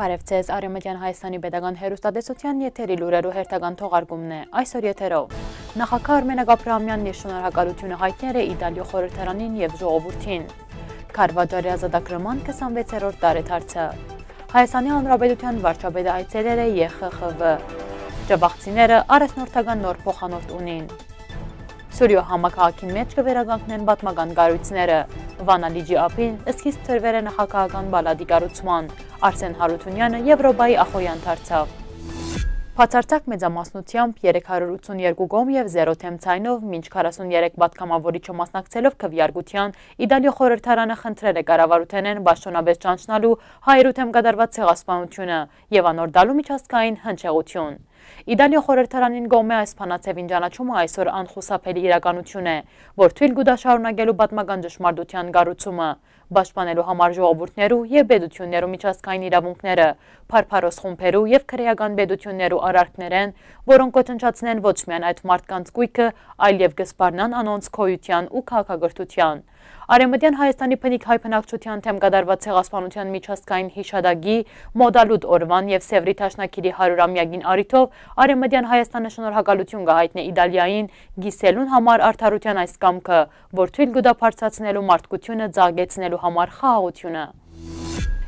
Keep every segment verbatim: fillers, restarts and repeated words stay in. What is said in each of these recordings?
Բարեւ ձեզ, Արեւմտեան Հայաստանի Պետական Հեռուստատեսութեան եթերի լուրերու հերթական թողարկումն է այսօր եթերով։ Նախագահ Արմենակ Աբրահամեանն իր շնորհակալութիւնը յայտներ է Իտալիոյ խորհրդարանին եւ ժողովուրդին։ Քարվաճառի ազատագրման քսանվեցերորդ տարեդարձը։ Հայաստանի Հանրապետութեան վարչապետը այցելել է Ե Խ Խ Վ։ Ջավախցիները առաջնորդական նոր փոխանորդ ունին։ Սուրիոյ համաքաղաքին մէջ կը վերականգնեն պատմական կառոյցները։ Վանալիճի ափին սկիզբ դրուեր է նախագահական պալատի կառուցման։ Արսէն Յարութունեանը Եվրոպայի ախոյեան դարձաւ։ Բացարձակ մեծամասնութեամբ երեք հարյուր ութսուն երկու կողմ եւ զերո դեմ ձայնով մինչ քառասուն երեք պատգամավորիչը մասնակցելով քվեարկութեան, Իտալիոյ խորհրդարանը խնդրեր է կառավարութենէն պաշտօնապէս ճանչնալու հայերու դեմ կատարուած ցեղասպանութիւնը եւ անոր տալու միջազգային հնչեղութիւն։ Իտալիոյ խորհրդարանին կողմէ այս բանաձեւին ճանաչումը այսօր անխուսափելի իրականութիւն է, որ թոյլ կու տայ շարունակելու պատմական ճշմարտութեան կառուցումը, պաշտպանելու համար ժողովուրդներու եւ պետութիւններու միջազգային իրաւունքները, փառփառոս խումբերու եւ քրէական պետութիւններու արարքներէն, որոնք կ'ոչնչացնեն ոչ միայն այդ մարդկանց գոյքը, այլ եւ կը սպառնան անոնց գոյութեան ու քաղաքակրթութեան։ Արեւմտեան Հայաստանի բնիկ հայ բնակչութեան դէմ կատարուած ցեղասպանութեան միջազգային յիշատակի մօտալուտ օրուան եւ Սեւրի դաշնակիրի հարիւրամեակին առիթով Արեւմտեան Հայաստանը շնորհակալութիւն կը յայտնէ Իտալիային, կիսելուն համար արդարութեան այս կամքը, որ թոյլ կու տայ բարձրացնելու մարդկութիւնը, ծաղկեցնելու համար խաղաղութիւնը։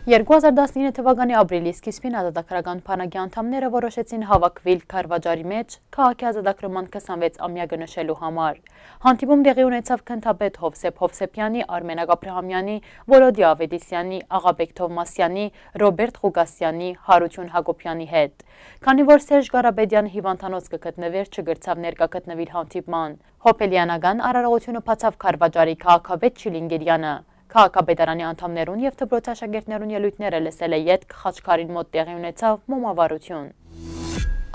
Երկու հազար տասնինը թվականի ապրիլի սկիզբին ազատագրական բանակի անդամները որոշեցին հաւաքուիլ Քարվաճառի մէջ, քաղաքի ազատագրման քսանվեց ամեակը նշելու համար։ Հանդիպում տեղի ունեցաւ գնդապետ Հովսեփ Հովսեփեանի, Արմենակ Աբրահամեանի, Վոլոդի Ավետիսեանի, Աղաբեկ Թովմասեանի, Ռոբերտ Ղուկասեանի, Յարութիւն Յակոբեանի հետ։ Քանի որ Սերժ Կարապետեանը հիւանդանոց կը գտնուէր, չկրցաւ ներկայ գտնուիլ հանդիպման։ Հոբելեանական արարողութիւնը բացաւ Քարվաճառի քաղաքապետ Չիլինգիրեանը։ Քաղաքապետարանի անդամներուն եւ դպրոցի աշակերտներուն ելոյթները լսելէ ետք խաչքարին մօտ տեղի ունեցաւ մոմավառութիւն։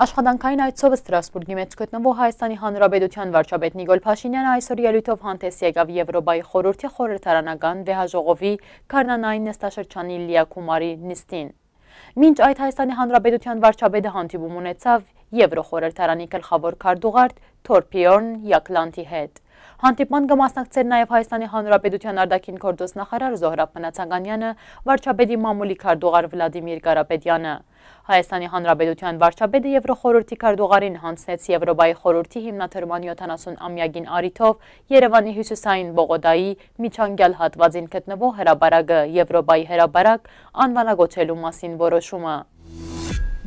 Աշխատանքային այցով Ստրասբուրգի մէջ գտնուող Հայաստանի Հանրապետութեան վարչապետ Նիկոլ Փաշինեանը այսօր ելոյթով հանդէս եկաւ Եվրոպայի խորհուրդի խորհրդարանական վեհաժողովի գարնանային նստաշրջանի լիակումարի նիստին։ Մինչ այդ Հայաստանի Հանրապետութեան վարչապետը հանդիպում ունեցաւ Եվրոխորհրդարանի գլխաւոր քարտուղար Թորբիորն Յակլանտի հետ։ Հանդիպման կը մասնակցէր նաեւ Հայաստանի Հանրապետութեան արտաքին գործոց նախարար Զոհրաբ Մնացականեանը, վարչապետի մամուլի քարտուղար Վլադիմիր Կարապետեանը։ Հայաստանի Հանրապետութեան վարչապետը Եվրոխորհուրդի քարտուղարին յանձնեց Եվրոպայի խորհուրդի հիմնադրման յոթանասուն ամեակին առիթով Երեւանի հիւսիսային Պողոտայի միջանկեալ հատուածին գտնուող հրապարակը Եվրոպայի հրապարակ անուանակոչելու մասին որոշումը։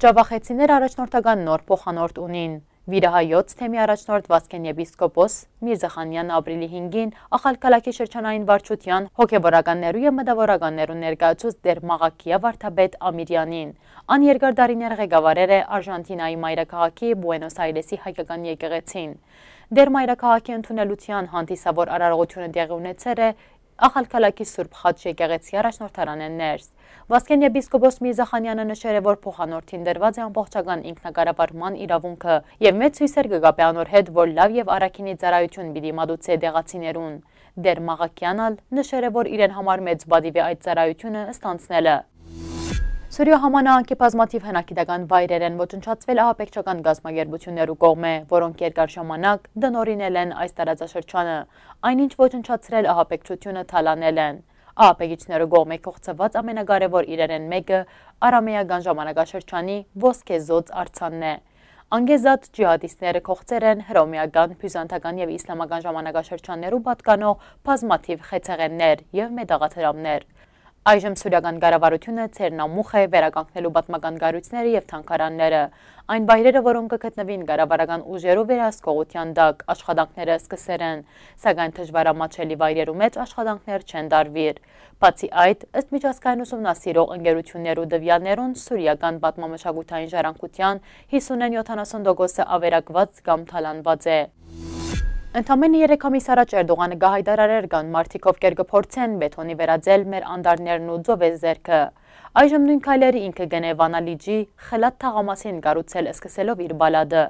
Ջավախեցիները առաջնորդական նոր փոխանորդ ունին։ Վիրահայոց թեմի առաջնորդ Վազգէն եպիսկոպոս Միրզախանեանը ապրիլի հինգին Ախալքալաքի շրջանային վարչութեան հոգեվորականներու եւ մտաւորականներու ներկայացուց Տեր Մաղաքիա վարդապետ Ամիրեանին։ Ան երկար տարիներ ղեկավարեր է Արժանթինայի մայրաքաղաքի Պուենոս Այրեսի հայկական եկեղեցին։ Տեր մայրաքաղաքի ընդունելութեան հանդիսավոր արարողութիւնը տեղի ունեցեր է Ախալքալաքի Սուրբ Խաչ եկեղեցի առաջնորդարանէն ներս։ Վազգէն եպիսկոպոս Միրզախանեանը նշեր է, որ փոխանորդին տրուած է ամբողջական ինքնակառավարման իրաւունքը եւ մեծ յուսեր կը կապէ անոր հետ, որ լաւ եւ առաքինի ծառայութիւն պիտի մատուցէ տեղացիներուն։ Տեր Մաղաքեան ալ նշեր է, որ իրեն համար մեծ պատիւ է այդ ծառայութիւնը ստանձնելը։ Սուրիոյ համանաանքի բազմաթիւ հնագիտական վայրեր են ոչնչացվել ահաբեկչական կազմակերպութիւններու կողմէ, որոնք երկար ժամանակ տնօրինել են այս տարածաշրջանը։ Այն ինչ ոչնչացրել ահաբեկչութիւնը թալանել են։ Ահաբեկիչներու կողմէ կողցուած ամենակարեւոր իրերէն մէկը արամեական ժամանակաշրջանի ոսկեզօծ արձանն է։ Անկեզատ ջիհադիստները կողցեր են հռոմեական, բիզանթական եւ իսլամական ժամանակաշրջաններու պատկանող բազմաթիւ խեցեղէններ եւ մետաղադրամներ։ Այժմ սուրիական կառավարութիւնը ձեռնամուխ է վերականգնելու պատմական կառոյցները եւ թանգարանները։ Այն վայրերը, որոնք կը գտնուին կառավարական ուժերու վերահսկողութեան տակ, աշխատանքները սկսեր են, սակայն դժուարամատչելի վայրերու մէջ աշխատանքներ չեն տարուիր։ Բացի այդ, ըստ միջազգային ուսումնասիրող ընկերութիւններու տուեալներուն, սուրիական պատմամշակութային ժառանգութեան հիսունէն յոթանասուն տոկոսը ավերակուած կամ թալանուած է։ Ընդամենը երեք ամիս առաջ Էրդողանը կը յայտարարէր, կան մարդիկ, ովքեր կը փորձեն բեթոնի վերածել մեր անտառներն ու ծովեզերքը։ Այժմ նոյն քայլերը ինքը կ'ընէ Վանալիճի խլաթ թաղամասին կառուցել սկսելով իր պալատը։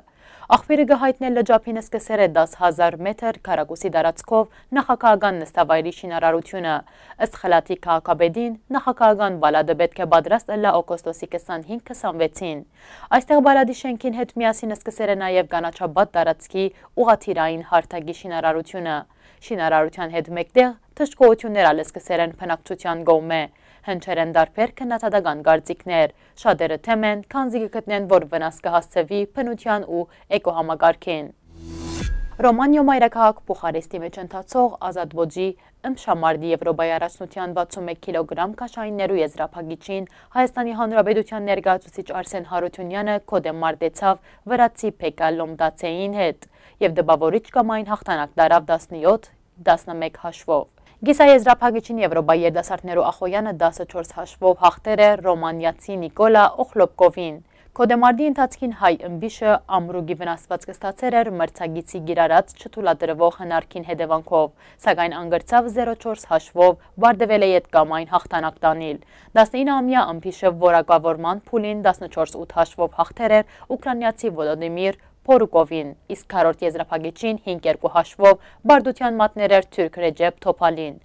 Աղբիւրը կը յայտնէ լճափին սկսեր է դաս հազար մետր քառակուսի տարածքով նախագահական նստավայրի շինարարութիւնը։ Ըստ խլաթի քաղաքապետին, նախագահական պալատը պէտք է պատրաստ ըլլայ օգոստոսի քսանհինգ քսանվեցին։ Այստեղ պալատի շենքին հետ միասին սկսեր է նաեւ կանաչապատ տարածքի ուղղաթիռային հարթակի շինարարութիւնը։ Շինարարութեան հետ մէկտեղ դժգոհութիւններ ալ սկսեր են բնակչութեան կողմէ։ Հնչեր են տարբեր քննադատական կարծիքներ։ Շատերը դեմ են, քանզի կը գտնեն, որ վնաս կը հասցուի բնութեան ու էկոհամակարգին։ Ռոմանիոյ մայրաքաղաք Պուխարեստի մէջ ընթացող Ազատ ոճի ըմբշամարտի Եւրոպայի առաջնութեան վաթսուն մէկ կիլոգրամ քաշայիններու եզրափակիչին Հայաստանի Հանրապետութեան ներկայացուցիչ Արսէն Յարութիւնեանը գոդէ մարտեցաւ վրացի Փեկա Լոմտացեին հետ եւ տպաւորիչ կամային յաղթանակ տարաւ տասնեօթ, տասնմէկ հաշվով։ Կիսաեզրափակիչին Եվրոպայի երիտասարդներու ախոյեանը տասնչորս հաշվով յաղթեր է ռոմանիացի Նիկոլա Օխլոպկովին։ Գոդեմարտի ընթացքին հայ ըմբիշը ամրուկի վնասվածքը ստացեր էր մրցակիցի կիրառած չթուլատրուող հնարքին հետեւանքով, սակայն ան կրցաւ զերո չորս հաշվով վարտաւելէ յետ կամային յաղթանակ տանիլ։ Տասնինը ամեայ ըմբիշը որակավորման փուլին տասնչորս ութ հաշվով յաղթեր էր ուկրաինացի Վոլոդիմիր Փորուկովին, իսկ քառորդ եզրափակիչին հինգ երկու հաշվով պարտութեան մատներ էր թուրք Ռեջեփ Թոփալին։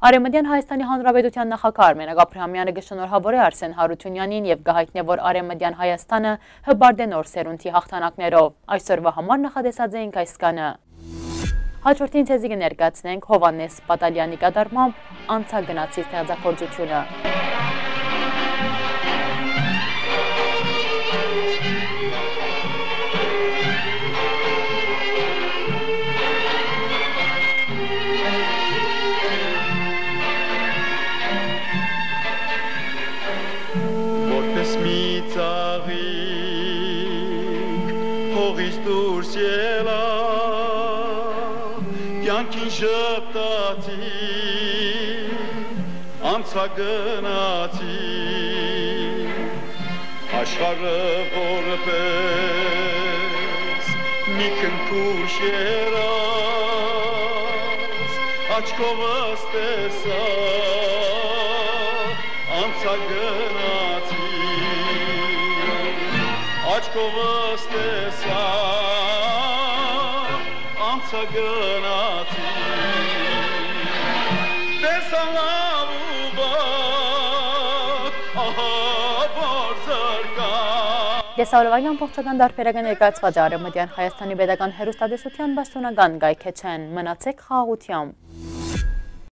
Արեւմտեան Հայաստանի Հանրապետութեան նախագահ Արմեն Աբրահամեանը կը շնորհաւորէ Արսէն Յարութիւնեանին եւ կը յայտնէ, որ Արեւմտեան Հայաստանը հպարտ է նոր սերունդի յաղթանակներով։ Այսօրուա համար նախատեսած էինք այսքանը։ Հաջորդին ձեզի կը ներկայացնենք Յովհաննէս Պատալեանի կատարմամբ «Անցագնացի» ստեղծագործութիւնը։ Որպես մի ծաղիկ հողից դուրս ելա, կեանքին ժպտացի, անցագնացի, աշխարհը որպես մի քնքուշ երազ, աչքովս տեսայ, անցագնացի, աչքովս տեսայ, անցագնացի, տեսայ լաւ ու վատ, ահա որ զրկայ։ Տեսահոլովակի ամբողջական տարբերակը ներկայացուած է Արեւմտեան Հայաստանի Պետական Հեռուստատեսութեան պաշտօնական կայքէջէն։ Մնացէք խաղաղութեամբ։